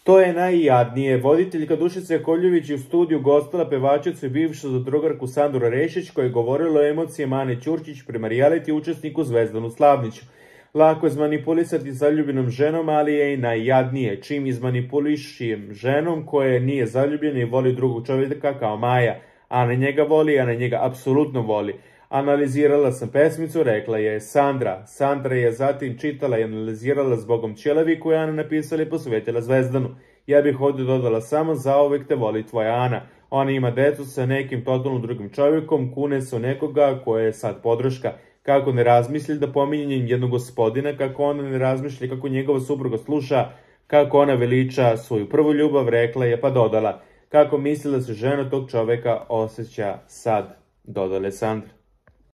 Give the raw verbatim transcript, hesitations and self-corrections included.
Što je najjadnije, voditeljka Dušica Jakovljević je u studiju gostila pevačicu i bivšu zadrugarku Sandru Rešić koja je govorila o emocijama Ane Ćurčić prema reality učesniku Zvezdanu Slavniću. Lako je izmanipulisati zaljubljenom ženom, ali je i najjadnije. Čim izmanipulišem ženom koja nije zaljubljena i voli drugog čovjeka kao Maja. Ana njega voli, Ana njega apsolutno voli. Analizirala sam pesmicu, rekla je Sandra. Sandra je zatim čitala i analizirala Zbogom ćelavi koju je Ana napisala i posvetila Zvezdanu. Ja bih ovdje dodala samo zauvek te voli tvoja Ana. Ona ima decu sa nekim totalno drugim čovjekom, kune se u nekoga koja je sad podrška. Kako ne razmisli da pominje jednog gospodina, kako ona ne razmišlja kako njegova supruga sluša, kako ona veliča svoju prvu ljubav, rekla je pa dodala. Kako misli da se žena tog čovjeka osjeća sad, dodala je Sandra.